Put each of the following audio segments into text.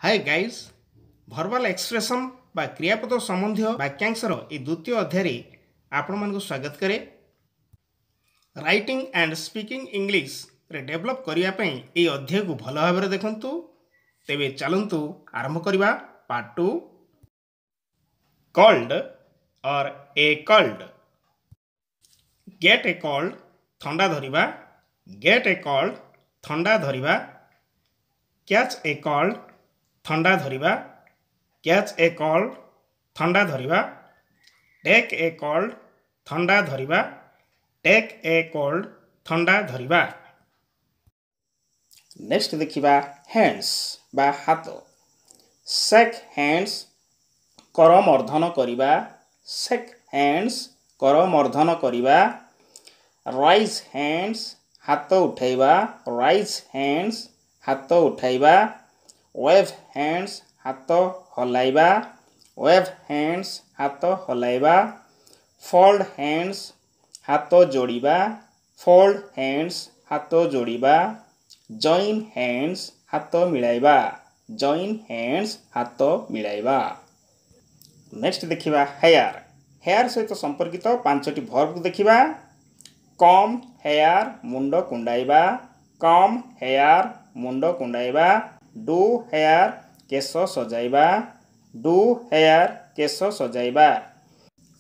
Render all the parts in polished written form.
ହାଏ guys, verbal expression ବା କ୍ରିୟାପଦ ସମ୍ବନ୍ଧୀୟ ବାକ୍ୟାଂଶର ଏହି ଦ୍ୱିତୀୟ ଅଧ୍ୟାୟରେ ଆପଣମାନଙ୍କୁ ସ୍ୱାଗତ କରେ। ରାଇଟିଂ ଆଣ୍ଡ ସ୍ପିକିଂ ଇଂଲିଶରେ ଡେଭଲପ୍ କରିବା ପାଇଁ ଏହି ଅଧ୍ୟାୟକୁ ଭଲ ଭାବରେ ଦେଖନ୍ତୁ। ତେବେ ଚାଲନ୍ତୁ ଆରମ୍ଭ କରିବା part 2। Cold or a cold. Get a cold, ଥଣ୍ଡା ଧରିବା। ଗେଟ୍ ଏ କୋଲ୍ଡ, ଥଣ୍ଡା ଧରିବା। କ୍ୟାଚ୍ ଏ କୋଲ୍ଡ, ଥଣ୍ଡା ଧରିବା। କ୍ୟାଚ୍ ଏ କୋଲ୍ଡ, ଥଣ୍ଡା ଧରିବା। ଟେକ୍ ଏ କୋଲ୍ଡ, ଥଣ୍ଡା ଧରିବା। ଟେକ୍ ଏ କୋଲ୍ଡ, ଥଣ୍ଡା ଧରିବା। ନେକ୍ସଟ ଦେଖିବା ହ୍ୟାଣ୍ଡସ୍ ବା ହାତ। ସେକ୍ ହ୍ୟାଣ୍ଡସ୍, କରମର୍ଦ୍ଦନ କରିବା। ସେକ୍ ହ୍ୟାଣ୍ଡସ୍, କରମର୍ଦ୍ଦନ କରିବା। ରାଇଜ୍ ହ୍ୟାଣ୍ଡସ୍, ହାତ ଉଠାଇବା। ରାଇଜ୍ ହ୍ୟାଣ୍ଡସ୍, ହାତ ଉଠାଇବା। ୱେଭ୍ ହ୍ୟାଣ୍ଡସ୍, ହାତ ହଲାଇବା। ୱେଭ୍ ହ୍ୟାଣ୍ଡସ୍, ହାତ ହଲାଇବା। ଫୋଲ୍ଡ ହ୍ୟାଣ୍ଡସ୍, ହାତ ଯୋଡ଼ିବା। ଫୋଲ୍ଡ ହ୍ୟାଣ୍ଡସ୍, ହାତ ଯୋଡ଼ିବା। ଜଏନ୍ ହ୍ୟାଣ୍ଡସ୍, ହାତ ମିଳାଇବା। ଜଏନ୍ ହ୍ୟାଣ୍ଡସ୍, ହାତ ମିଳାଇବା। ନେକ୍ସଟ ଦେଖିବା ହେୟାର। ହେୟାର ସହିତ ସମ୍ପର୍କିତ 5ଟି ଭର୍ବକୁ ଦେଖିବା। କମ୍ ହେୟାର, ମୁଣ୍ଡ କୁଣ୍ଡାଇବା। କମ୍ ହେୟାର, ମୁଣ୍ଡ କୁଣ୍ଡାଇବା। Do hair, କେଶ ସଜାଇବା। Do hair, କେଶ ସଜାଇବା।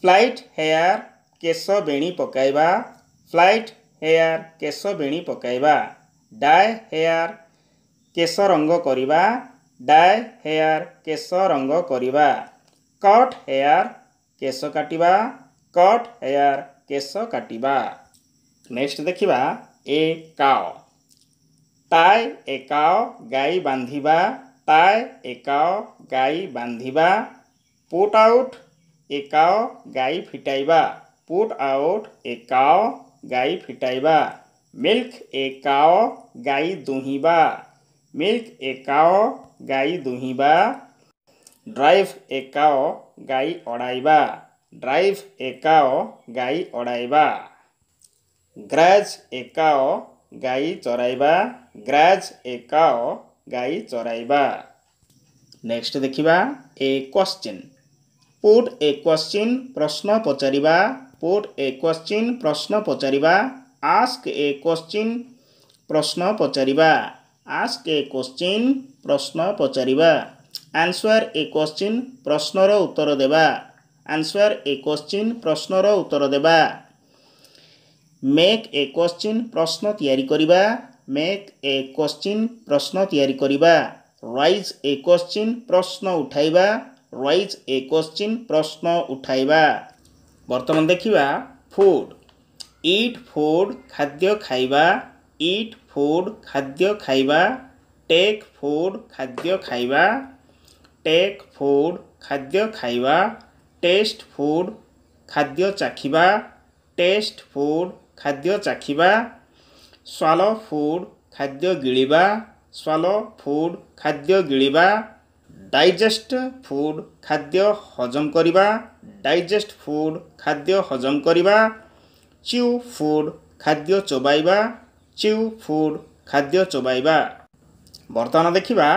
ଫ୍ଲାଇଟ୍ ହେୟାର, କେଶ ବେଣୀ ପକାଇବା। ଫ୍ଲାଇଟ୍ ହେୟାର, କେଶ ବେଣୀ ପକାଇବା। ଡାଏ ହେୟାର, କେଶ ରଙ୍ଗ କରିବା। ଡାଏ ହେୟାର, କେଶ ରଙ୍ଗ କରିବା। କଟ୍ ହେୟାର, କେଶ କାଟିବା। କଟ୍ ହେୟାର, କେଶ କାଟିବା। ନେକ୍ସଟ ଦେଖିବା ଏ କାଓ। ଟାଏ ଏ କାଓ, ଗାଈ ବାନ୍ଧିବା। ଟାଏ ଏ କାଓ, ଗାଈ ବାନ୍ଧିବା। ପୁଟ୍ ଆଉଟ୍ ଏ କାଓ, ଗାଈ ଫିଟାଇବା। ପୁଟ୍ ଆଉଟ୍ ଏ କାଓ, ଗାଈ ଫିଟାଇବା। ମିଲ୍କ ଏ କାଓ, ଗାଈ ଦୁହିଁବା। ମିଲ୍କ ଏ କାଓ, ଗାଈ ଦୁହିଁବା। ଡ୍ରାଇଭ୍ ଏ କାଓ, ଗାଈ ଅଡ଼ାଇବା। ଡ୍ରାଇଭ୍ ଏ କାଓ, ଗାଈ ଅଡ଼ାଇବା। ଗ୍ରାଜ୍ ଏ କାଓ, ଗାଈ ଚରାଇବା। ଗ୍ରାଜ୍ ଏ କାଓ, ଗାଈ ଚରାଇବା। ନେକ୍ସଟ ଦେଖିବା a question. Put a question, ପ୍ରଶ୍ନ ପଚାରିବା। ପୁଟ୍ ଏ କ୍ୱଶ୍ଚିନ୍, ପ୍ରଶ୍ନ ପଚାରିବା। ଆସ୍କ ଏ କ୍ୱଶ୍ଚିନ୍, ପ୍ରଶ୍ନ ପଚାରିବା। ଆସ୍କ ଏ କ୍ୱଶ୍ଚିନ୍, ପ୍ରଶ୍ନ ପଚାରିବା। ଆନ୍ସୱାର ଏ କ୍ୱଶ୍ଚିନ୍, ପ୍ରଶ୍ନର ଉତ୍ତର ଦେବା। ଆନ୍ସୱାର ଏ କ୍ୱଶ୍ଚିନ୍, ପ୍ରଶ୍ନର ଉତ୍ତର ଦେବା। ମେକ୍ ଏ କ୍ୱଶ୍ଚିନ୍, ପ୍ରଶ୍ନ ତିଆରି କରିବା। ମେକ୍ ଏ କ୍ୱଶ୍ଚିନ୍, ପ୍ରଶ୍ନ ତିଆରି କରିବା। ରାଇଜ୍ ଏ କ୍ୱଶ୍ଚିନ୍, ପ୍ରଶ୍ନ ଉଠାଇବା। ରାଇଜ୍ ଏ କ୍ୱଶ୍ଚିନ୍, ପ୍ରଶ୍ନ ଉଠାଇବା। ବର୍ତ୍ତମାନ ଦେଖିବା ଫୁଡ୍। ଇଟ୍ ଫୁଡ୍, ଖାଦ୍ୟ ଖାଇବା। ଇଟ୍ ଫୁଡ୍, ଖାଦ୍ୟ ଖାଇବା। ଟେକ୍ ଫୁଡ୍, ଖାଦ୍ୟ ଖାଇବା। ଟେକ୍ ଫୁଡ୍, ଖାଦ୍ୟ ଖାଇବା। ଟେଷ୍ଟ ଫୁଡ୍, ଖାଦ୍ୟ ଚାଖିବା। ଟେଷ୍ଟ ଫୁଡ୍, ଖାଦ୍ୟ ଚାଖିବା। ସ୍ୱାଲୋ ଫୁଡ୍, ଖାଦ୍ୟ ଗିଳିବା। ସ୍ୱାଲୋ ଫୁଡ୍, ଖାଦ୍ୟ ଗିଳିବା। ଡାଇଜେଷ୍ଟ ଫୁଡ୍, ଖାଦ୍ୟ ହଜମ କରିବା। ଡାଇଜେଷ୍ଟ ଫୁଡ୍, ଖାଦ୍ୟ ହଜମ କରିବା। ଚିଉ ଫୁଡ୍, ଖାଦ୍ୟ ଚୋବାଇବା। ଚିଉ ଫୁଡ୍, ଖାଦ୍ୟ ଚୋବାଇବା। ବର୍ତ୍ତମାନ ଦେଖିବା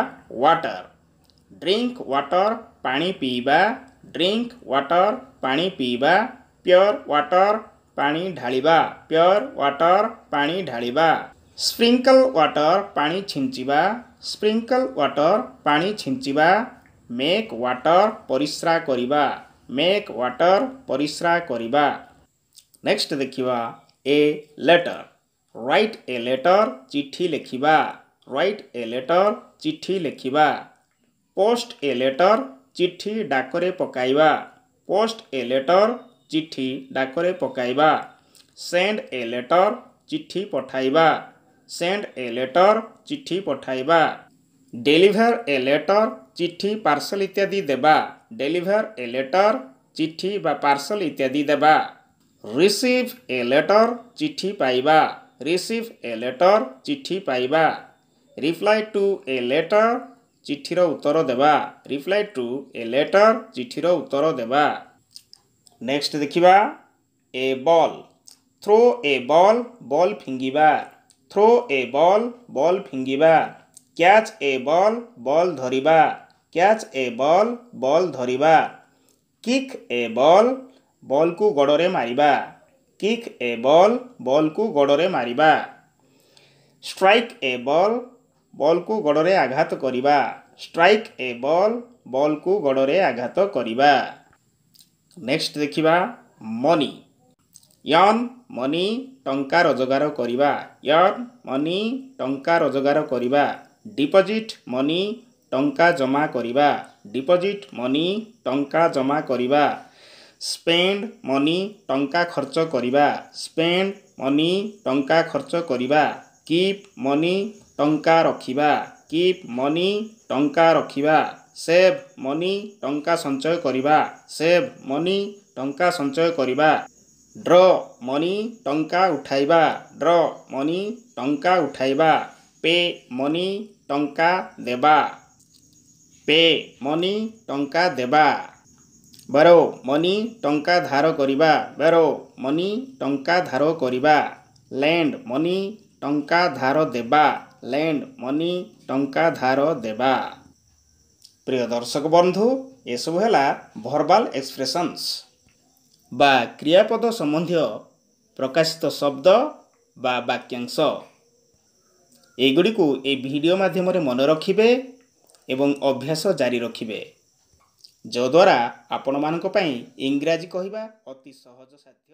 ୱାଟର। ଡ୍ରିଙ୍କ ୱାଟର, ପାଣି ପିଇବା। ଡ୍ରିଙ୍କ ୱାଟର, ପାଣି ପିଇବା। ପ୍યોର ୱାଟର, ପାଣି ଢାଳିବା। ପ୍યોର ୱାଟର, ପାଣି ଢାଳିବା। ସ୍ପ୍ରିଙ୍କଲ ୱାଟର, ପାଣି ଛିଞ୍ଚିବା। ସ୍ପ୍ରିଙ୍କଲ ୱାଟର, ପାଣି ଛିଞ୍ଚିବା। ମେକ୍ ୱାଟର, ପରିସ୍ରା କରିବା। ମେକ୍ ୱାଟର, ପରିସ୍ରା କରିବା। ନେକ୍ସଟ ଦେଖିବା a letter. Write a letter, ଚିଠି ଲେଖିବା। ରାଇଟ୍ ଏ ଲେଟର, ଚିଠି ଲେଖିବା। ପୋଷ୍ଟ ଏ ଲେଟର, ଚିଠି ଡାକରେ ପକାଇବା। ପୋଷ୍ଟ ଏ ଲେଟର, ଚିଠି ଡାକରେ ପକାଇବା। ସେଣ୍ଡ ଏ ଲେଟର, ଚିଠି ପଠାଇବା। ସେଣ୍ଡ ଏ ଲେଟର, ଚିଠି ପଠାଇବା। ଡେଲିଭର ଏ ଲେଟର, ଚିଠି ପାର୍ସଲ ଇତ୍ୟାଦି ଦେବା। ଡେଲିଭର ଏ ଲେଟର, ଚିଠି ବା ପାର୍ସଲ ଇତ୍ୟାଦି ଦେବା। ରିସିଭ୍ ଏ ଲେଟର, ଚିଠି ପାଇବା। ରିସିଭ୍ ଏ ଲେଟର, ଚିଠି ପାଇବା। ରିପ୍ଲାଏ ଟୁ ଏ ଲେଟର, ଚିଠିର ଉତ୍ତର ଦେବା। ରିପ୍ଲାଏ ଟୁ ଏ ଲେଟର, ଚିଠିର ଉତ୍ତର ଦେବା। ନେକ୍ସଟ ଦେଖିବା a ball. Throw a ball, ball ଫିଙ୍ଗିବା। ଥ୍ରୋ ଏ ବଲ୍, ବଲ୍ ଫିଙ୍ଗିବା। କ୍ୟାଚ୍ ଏ ବଲ୍, ବଲ୍ ଧରିବା। କ୍ୟାଚ୍ ଏ ବଲ୍, ବଲ୍ ଧରିବା। କିକ୍ ଏ ବଲ୍, ବଲ୍କୁ ଗୋଡ଼ରେ ମାରିବା। କିକ୍ ଏ ବଲ୍, ବଲ୍କୁ ଗୋଡ଼ରେ ମାରିବା। ଷ୍ଟ୍ରାଇକ୍ ଏ ବଲ୍, ବଲ୍କୁ ଗୋଡ଼ରେ ଆଘାତ କରିବା। ଷ୍ଟ୍ରାଇକ୍ ଏ ବଲ୍, ବଲ୍କୁ ଗୋଡ଼ରେ ଆଘାତ କରିବା। ନେକ୍ସଟ ଦେଖିବା ମନି। ୟର୍ନ ମନି, ଟଙ୍କା ରୋଜଗାର କରିବା। ୟର୍ନ ମନି, ଟଙ୍କା ରୋଜଗାର କରିବା। ଡିପୋଜିଟ୍ ମନି, ଟଙ୍କା ଜମା କରିବା। ଡିପୋଜିଟ୍ ମନି, ଟଙ୍କା ଜମା କରିବା। ସ୍ପେଣ୍ଡ ମନି, ଟଙ୍କା ଖର୍ଚ୍ଚ କରିବା। ସ୍ପେଣ୍ଡ ମନି, ଟଙ୍କା ଖର୍ଚ୍ଚ କରିବା। କିପ୍ ମନି, ଟଙ୍କା ରଖିବା। କିପ୍ ମନି, ଟଙ୍କା ରଖିବା। ସେଭ୍ ମନି, ଟଙ୍କା ସଞ୍ଚୟ କରିବା। ସେଭ୍ ମନି, ଟଙ୍କା ସଞ୍ଚୟ କରିବା। ଡ୍ର ମନି, ଟଙ୍କା ଉଠାଇବା। ଡ୍ର ମନି, ଟଙ୍କା ଉଠାଇବା। ପେ ମନି, ଟଙ୍କା ଦେବା। ପେ ମନି, ଟଙ୍କା ଦେବା। ବରୋ ମନି, ଟଙ୍କା ଧାର କରିବା। ବରୋ ମନି, ଟଙ୍କା ଧାର କରିବା। ଲେଣ୍ଡ ମନି, ଟଙ୍କା ଧାର ଦେବା। ଲେଣ୍ଡ ମନି, ଟଙ୍କା ଧାର ଦେବା। ପ୍ରିୟ ଦର୍ଶକ ବନ୍ଧୁ, ଏସବୁ ହେଲା ଭର୍ବାଲ ଏକ୍ସପ୍ରେସନ୍ସ ବା କ୍ରିୟାପଦ ସମ୍ବନ୍ଧୀୟ ପ୍ରକାଶିତ ଶବ୍ଦ ବା ବାକ୍ୟାଂଶ। ଏଗୁଡ଼ିକୁ ଏହି ଭିଡ଼ିଓ ମାଧ୍ୟମରେ ମନେ ରଖିବେ ଏବଂ ଅଭ୍ୟାସ ଜାରି ରଖିବେ, ଯଦ୍ୱାରା ଆପଣମାନଙ୍କ ପାଇଁ ଇଂରାଜୀ କହିବା ଅତି ସହଜ ସାଧ୍ୟ।